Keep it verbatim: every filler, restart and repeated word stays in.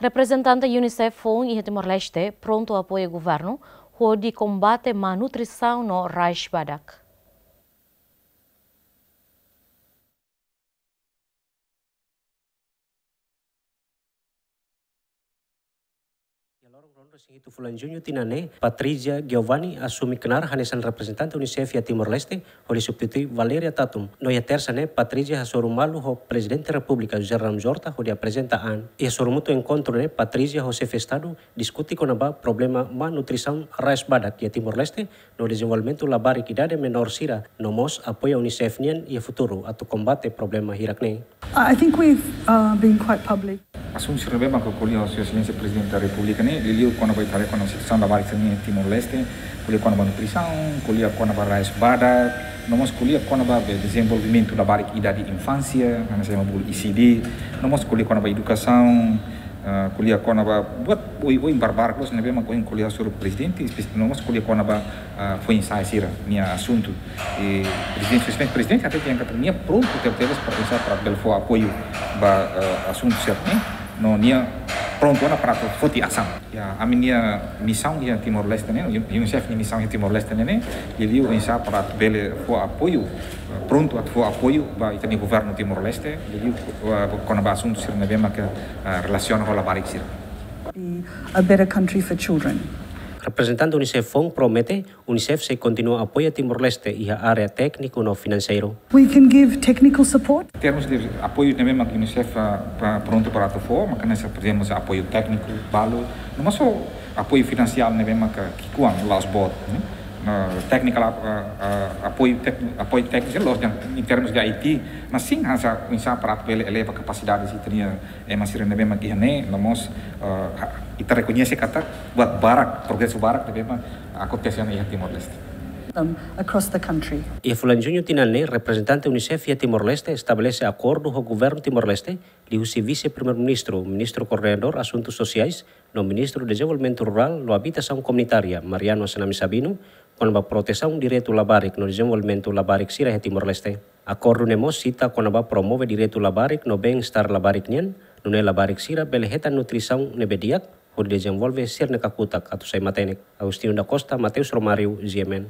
Reprezentante UNICEF foun iha Timor-Leste prontu apoia governu hodi kombate malnutrisaun no rais badak. Iha loron ruanulu-resin-hitu fulan Juñu tinan ne'e, Patrizia Giovanni asume knaar hanesan reprezentante UNICEF iha Timor-Leste, hodi substitui Valeria Tatum. No iha Tersa ne'e, Patrizia hasoru malu ho Prezidente Repúblika José Ramos-Horta hodi aprezenta an. Iha sorumutu enkontru ne'e, Patrizia ho Xefe Estadu diskute kona-ba problema malnutrisaun rais badak iha Timor-Leste, no dezenvolvimentu labarik idade menór sira, no mós apoia UNICEF nian iha futuru atu kombate problema hirak ne'e. I think we've uh, been quite public. Asuntu sira ne'ebé mak ko'alia ho Sua Exelénsia Prezidente da Repúblika ne'e, liuliu kona-ba ita haree kona-ba situasaun labarik sira-ne'e iha Timor-Leste, ko'alia kona-ba nutrisaun, ko'alia kona-ba rais badak, no mós ko'alia kona-ba be dezenvolvimentu labarik idade infánsia, hanesan ema bolu E C D, no mós ko'alia kona-ba edukasaun, ah, ko'alia kona-ba buat oioin barbarak loos ne'ebé mak ohin ko'alia hasoru Prezidente, espe-, no mós ko'alia kona-ba, ah, foin-sa'e sira-nia asuntu. I Prezidente, Sua Exelénsia Prezidente hatete katak nia prontu tebetebes para oinsá para bele fó apoiu ba, ah, asuntu sira-ne'e, no nia prontu ona para atu foti asaun. Ya, ami-nia misaun iha Timor-Leste ne'e, UNICEF nia misaun iha Timor-Leste ne'e, liuliu oinsá para atu bele fó apoiu, eh, prontu atu fó apoiu ba ita-nia governu Timor-Leste, liuliu, eh, kona-ba asuntu sira ne'ebé maka, eh, relasiona ho labarik sira. Be a better country for children. Reprezentante UNICEF foun promete, UNICEF sei kontinua apoia Timor-Leste iha área tékniku no finanseiru. We can give technical support. Termus de apoiu ne'ebé mak UNICEF, ah, pa-, prontu para atu fó, maka hanesan, por ezemplu, apoiu tékniku balu, no mós apoiu finansiál ne'ebé mak ki'ikoan la'ós boot, ne'e? No, technical, ah, ah, apoiu tékni-, apoiu tékniku la'ós dehan, em termos de I T, mas sim hanesan oinsá para atu bele eleva kapasidade sira-nia ema sira ne'ebé mak iha ne'e, no mós, ah, ha-, ita rekoñese katak buat barak, progresu barak ne'ebé mak akontese iha Timor-Leste. Um, across the country. Iha fulan Juñu tinan ne'e, reprezentante UNICEF iha Timor-Leste estabelese akordu ho governu Timor-Leste, liuhusi Vise-Primeiru-Ministru, Ministru Koordenadór Asuntu Sosiais, no Ministru Dezenvolvimentu Rurál no Abitasaun Komunitária, Mariano Assanami Sabino, kona-ba protesaun direitu labarik no dezenvolvimentu labarik sira iha Timor-Leste. Akordu ne'e mós sita kona-ba promove direitu labarik no bem-estar labarik nian, nune'e labarik sira bele hetan nutrisaun ne'ebé di'ak, hodi dezenvolve sira-nia kakutak atu sai matenek. Agostinho da Costa, Mateus Romário, G M N.